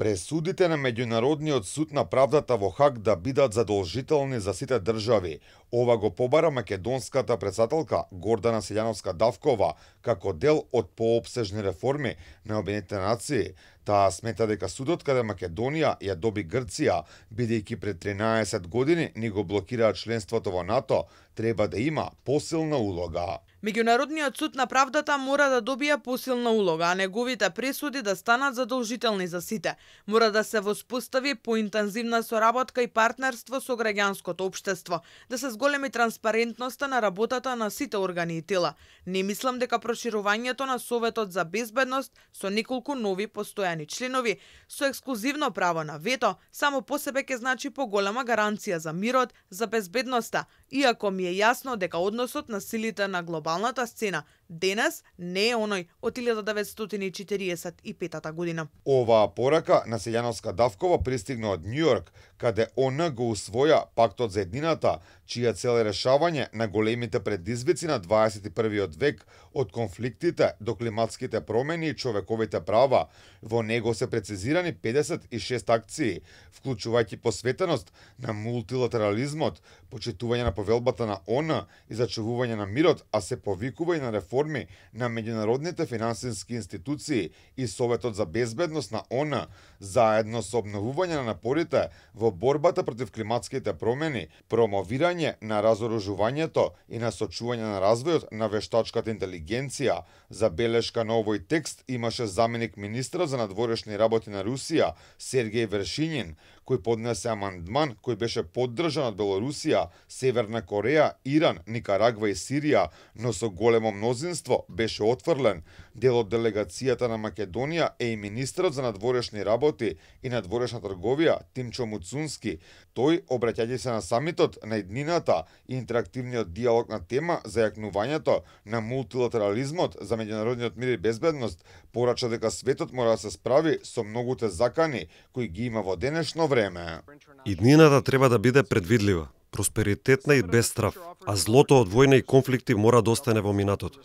Пресудите на Меѓународниот суд на правдата во Хаг да бидат задолжителни за сите држави. Ова го побара македонската претседателка Гордана Силјановска-Давкова како дел од поопсежни реформи на Обединетите нации. Таа смета дека судот каде Македонија ја доби Грција, бидејќи пред 13 години ни го блокираат членството во НАТО, треба да има посилна улога. Меѓународниот суд на правдата мора да добие посилна улога, а неговите пресуди да станат задолжителни за сите. Мора да се воспостави поинтензивна соработка и партнерство со граѓанското општество, да се зголеми транспарентноста на работата на сите органи и тела. Не мислам дека проширувањето на Советот за безбедност со неколку нови постојани членови, со ексклузивно право на вето, само по себе ќе значи поголема гаранција за мирот, за безбедноста, иако ми е јасно дека односот на силите на глобалната сцена денес не е оној од 1945 година. Оваа порака на Силјановска-Давкова пристигна од Њујорк, каде ООН го усвоја Пактот за еднината, чија цел е решавање на големите предизвици на 21 век, од конфликтите до климатските промени и човековите права. Во него се прецизирани 56 акции, вклучувајќи посветеност на мултилатерализмот, почитување на повелбата на ООН и зачувување на мирот, а се повикува и на реформи на меѓународните финансиски институции и Советот за безбедност на ООН, заедно со обновување на напорите во борбата против климатските промени, промовирање на разоружувањето и насочување на развојот на вештачката интелигенција. Забелешка на овој текст имаше заменик министрот за надворешни работи на Русија Сергеј Вершинин, кој поднесе амандман кој беше поддржан од Белорусија, Северна Кореја, Иран, Никарагва и Сирија, но со големо мнозинство беше отфрлен. Дел од делегацијата на Македонија е и министрот за надворешни работи и надворешна трговија Тимчо Муцунски. Тој, обраќајќи се на самитот на еднината и интерактивниот диалог на тема за јакнувањето на мултилатерализмот за меѓународниот мир и безбедност, порача дека светот мора да се справи со многуте закани кои ги има во денешно време. Иднината треба да биде предвидлива, просперитетна и без страв, а злото од војна и конфликти мора да остане во минатото.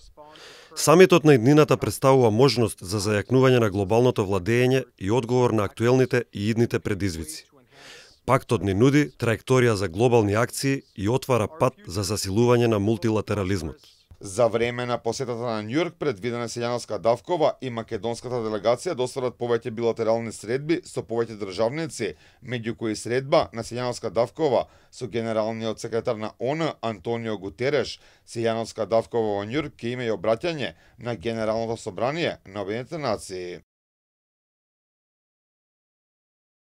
Самитот на иднината представува можност за зајакнување на глобалното владење и одговор на актуелните и идните предизвици. Пактот ни нуди траекторија за глобални акции и отвара пат за засилување на мултилатерализмот. За време на посетата на Њујорк предвидена Силјановска-Давкова и македонската делегација достварат повеќе билатерални средби со повеќе државници, меѓу кои средба на Силјановска-Давкова со генералниот секретар на ООН Антонио Гутереш. Силјановска-Давкова во Њујорк ќе има и обраќање на Генералното собрание на Обединетите нации.